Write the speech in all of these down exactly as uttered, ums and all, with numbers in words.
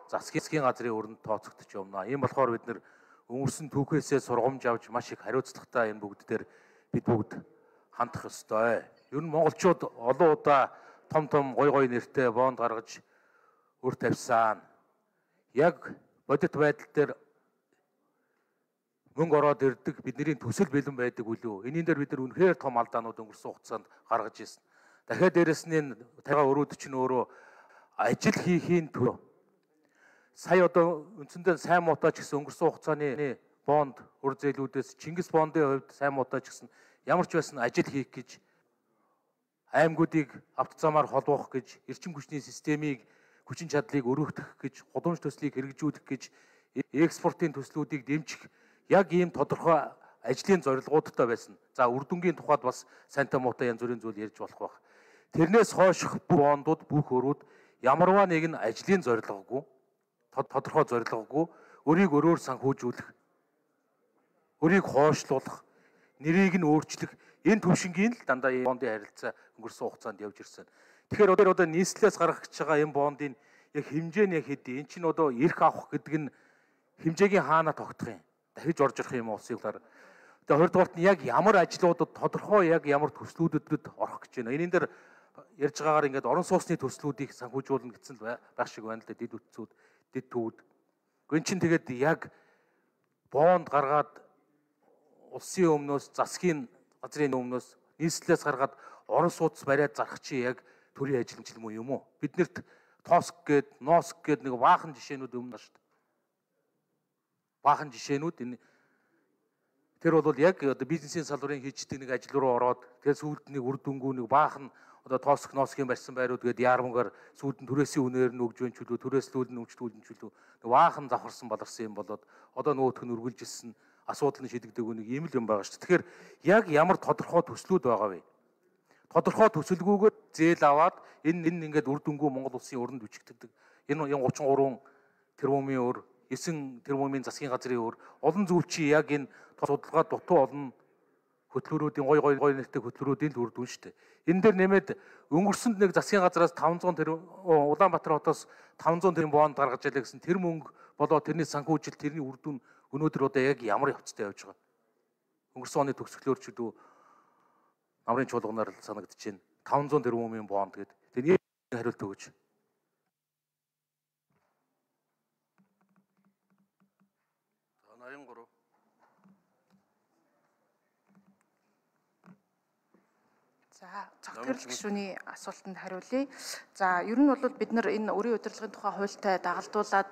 засгийн газрын өрөнд тооцогдож явна. Ийм болохоор бид нэр өнгөрсөн түүхээсээ сургамж авч маш их хариуцлагатай энэ бүгд дээр бид бүгд хандах ёстой. Ер нь монголчууд олон удаа том том гой гой нэртэй бонд гаргаж өр тавьсан. Яг бодит байдал дээр мөнгө ороод ирдэг бидний төсөл бэлэн байдаг үлээ. Энийн дээр бид нар үнэхээр том алдаанууд өнгөрсөн хугацаанд гаргаж ирсэн. Дахиад дээрэс нь тагаа өрөөд чинь өөрөө ажил хийхийн төлөө сая одоо үндсэндээ сайн муутай ч гэсэн өнгөрсөн хугацааны бонд өр зээлүүдээс Чингис бондын хувьд сайн муутай ч гэсэн ямар ч байсан ажил хийх гэж аймагуудыг авто замаар холбоох гэж эрчим хүчний системийг хүчин чадлыг өргөх гэж гудамж төслийг хэрэгжүүлэх гэж экспортын төслүүдийг дэмжих яг ийм тодорхой ажлын зорилгоудтай байсан. За үр дүнгийн тухайд бас сайнтай муутай янз бүрийн зүйл ярьж болох байх. Тэрнээс хойших бүх бондууд бүх өрүүд ямарваа нэг нь ажлын зорилгогүй тодорхой зорилгогүй өрийг өрөөр санхүүжүүлэх, өрийг хойшлуулах, нэрийг нь өөрчлөх энэ төвшингийн л дандаа энэ бондын харилцаа өнгөрсөн хугацаанд явж ирсэн. Тэгэхээр одоо одоо нийслэлээс гаргаж байгаа энэ бондын яг хэмжээ нь хэдий. Энд чинь одоо эрх авах гэдэг нь хэмжээгийн хаана тогтох юм? Дахиж орж ирэх юм улсын хуулиар. Тэгээ хоёр дахь нь яг ямар ажлуудад тодорхой яг ямар төслүүдэд орох гэж байна. Энийн дээр ярьж байгаагаар ингээд орон сууцны төслүүдийг санхүүжүүлнэ гэсэн л байх шиг байна л да. Дид үтцүүд, дид төвд. Гүн чин тэгээд яг бонд гаргаад улсын өмнөөс засгийн газрын өмнөөс нийслэлээс гаргаад орон сууц бариад зарах чи яг төрийн ажилламжил муу юм уу? Биднэрт тооск гээд, нооск гээд нэг баахан жишээнүүд өмнө шүү дээ. Баахан жишээнүүд энэ тэр бол яг одоо бизнесийн салбарын хийждэг нэг ажил руу ороод тэгээд сүүлд нэг үр дүнгүү нэг баахан одоо тооск ноосхийн барьсан байрууд гээд яармгаар сүүлд нь түрээсийн үнээр нь өгж байна ч үлээ түрээслүүл нь өмчлүүл нь ч үлээ нэг баахан завхарсан баларсан юм болоод одоо нөгөөх нь үргэлжилсэн асуудал нь шийдэгдэг нэг ийм л юм байгаа шүү дээ. Тэгэхээр яг ямар тодорхой төслүүд байгаа вэ? Тодорхой төсөлгүйгээр зээл аваад энэ энэ ингээд үр дүнгүү Монгол улсын өрөнд бичигддэг. Энэ гучин гурван тэрбумын өр, девять тэрбумын засгийн газрын өр, олон зүйл чи яг энэ судалгаа дутуу олон хөтөлбөрүүдийн гой гой гой нэртэй хөтөлбөрүүдийн л үр дүн шүү дээ. Энэ дээр нэмээд өнгөрсөнд нэг засгийн газраас таван зуун тэрбум Улаанбаатар хотоос таван зуун тэрбум бонд гаргаж ялаа гэсэн тэр мөнгө болоо тэрний санхүүжил тэрний үр дүн өнөөдөр одоо яг ямар явцтай явж байгаа. Өнгөрсөн оны төгсгөлөөр ч үү намрын чуулганаар л санагдаж байна. таван зуун тэрбумын бонд гэдэг. Тэгээ нэг хариулт өгөөч. Нарийн гурав. За, цогцлол гишүүний асуултанд хариулъя. За, ер нь бол бид нар энэ өрийн удирдлагын тухай хуультай дагалдуулаад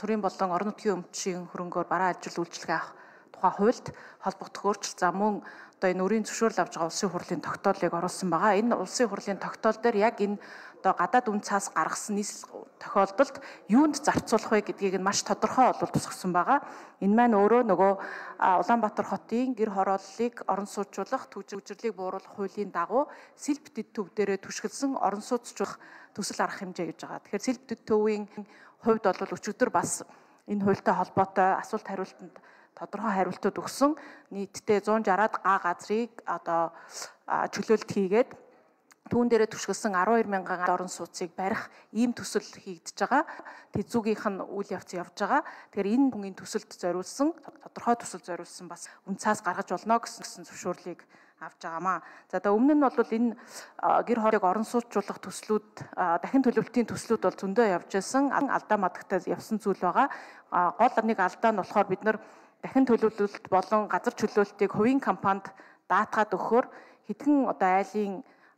төрийн болон орон нутгийн өмчийн хөрөнгөөр бараа ажил үйлчлэгээ авах тухай хуульд холбогдох өөрчлөлт зам мөн одоо энэ өрийн зөвшөөрөл авж байгаа улсын хурлын тогтоолыг оруулсан байгаа. Энэ улсын хурлын тогтоол дээр яг энэ одоо гадаад үн цаас гаргасан нийслэл тохиолдолд юунд зарцуулах вэ гэдгийг нь маш тодорхой олбол тусгасан байгаа. Энэ маань өөрөө нөгөө Улаанбаатар хотын гэр хорооллыг орон сууцуулах, төвжирлийг бууруулах хуулийн дагуу сэлб дэд төв дээрээ түшгэлсэн орон сууцчлах төсөл арга хэмжээ гэж байгаа. Тэгэхээр сэлб дэд төвийн хувьд бол өчигдөр бас энэ хуультай холбоотой асуулт хариултанд тодорхой хариултууд өгсөн. Нийтдээ зуун шараад га газрыг одоо чөлөөлт хийгээд түүн дээрээ түшгэлсэн арван хоёр мянган орон сууцыг барих ийм төсөл хийгдэж байгаа. Тэзүүгийнх нь үйл явц явж байгаа. Тэгэхээр энэ бүнгийн төсөлд зориулсан тодорхой төсөл зориулсан бас үнцаас гаргаж болно гэсэн зөвшөөрлийг авч байгаамаа. За одоо өмнө нь бол энэ гэр хоолыг орон сууцуулах төслүүд дахин төлөвлөлтийн төслүүд бол зөндөө явж байсан. Алдаа мадагтай явсан зүйл байгаа. Гол нэг алдаа нь болохоор бид нар дахин төлөвлөлт болон газар чөлөөлтийг хувийн компанид даатгаад өгөхөөр хэдхэн одоо айлын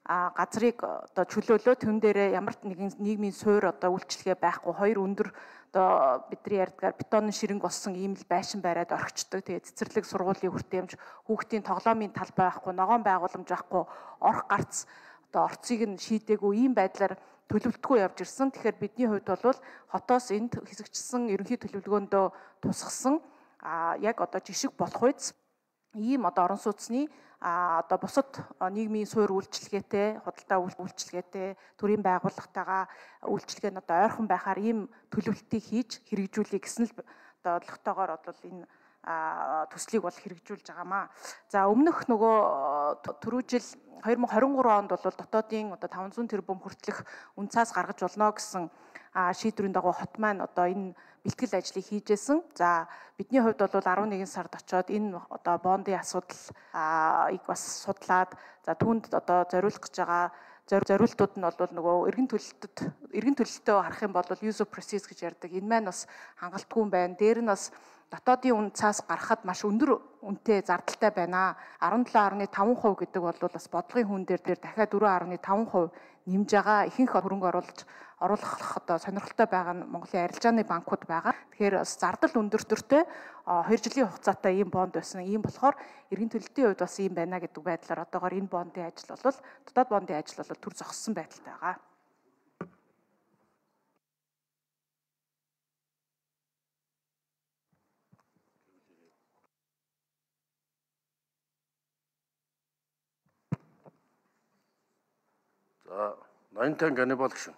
газрыг одоо чөлөөлөө тэн дээрээ ямар нэгэн нийгмийн суур одоо үйлчлэгээ байхгүй хоёр өндөр одоо бидний ярьдгаар бетонны ширэнг болсон ийм л байшин бариад орхичдаг. Тэгээ цэцэрлэг сургуулийн хүртээмж хүүхдийн тоглоомын талбай байхгүй, ногоон байгууламж байхгүй, орох гарц одоо орцыг нь шийдээгүй ийм байдлаар төлөвлөлтгүй явж ирсэн. Тэгэхээр бидний хувьд бол хотоос энд хэсэгчсэн ерөнхий төлөвлөгөөндөө тусгасан а яг одоо жишг болох үйс ийм одоо орон сууцны а одоо бусад нийгмийн суур үйлчлэгээтэй, худалдаа үйлчлэгээтэй, төрийн байгууллагатайгаа үйлчлэгээ нь одоо ойрхон байхаар ийм төлөвлөлтийг хийж хэрэгжүүлэх гэсэн л одоо одлоготойгоор бол энэ төслийг бол хэрэгжүүлж байгаамаа. За өмнөх нөгөө түрүү жил две тысячи двадцать три онд бол дотоодын одоо five hundred тэрбум хүртэлх үн цаас гаргаж болно гэсэн шийдвэрийн дагуу хот маань одоо энэ бэлтгэл ажлыг хийжсэн. За бидний хувьд бол eleven сард очоод энэ одоо бондын асуудлыг бас судлаад за түүнд одоо зориулах гэж байгаа зориултууд нь бол нөгөө эргэн төлөлтөд эргэн төлөлтөө харах юм бол use of proceeds гэж ярьдаг. Энэ маань бас хангалтгүй юм байна. Дээр нь бас дотоодын үн цаас гарахад маш өндөр үнэтэй зардалтай байна. seventeen point five percent гэдэг бол бас бодлогын хүн дээр дээр дахиад four point five percent нэмж байгаа. Ихэнх хөрөнгө оруулж оруулах одоо сонирхолтой байгаа нь Монголын арилжааны банкуд байгаа. Тэгэхээр бас зардал өндөртөртэй two жилийн хугацаатай ийм бонд байсан. Ийм болохоор эргэн төлөлтийн хувьд бас ийм байна гэдэг байдлаар одоогоор энэ бондын ажил бол дотоод бондын ажил бол төр зогссон байдалтай байгаа. За, Ноёнтан Ганнибал гүшүүн.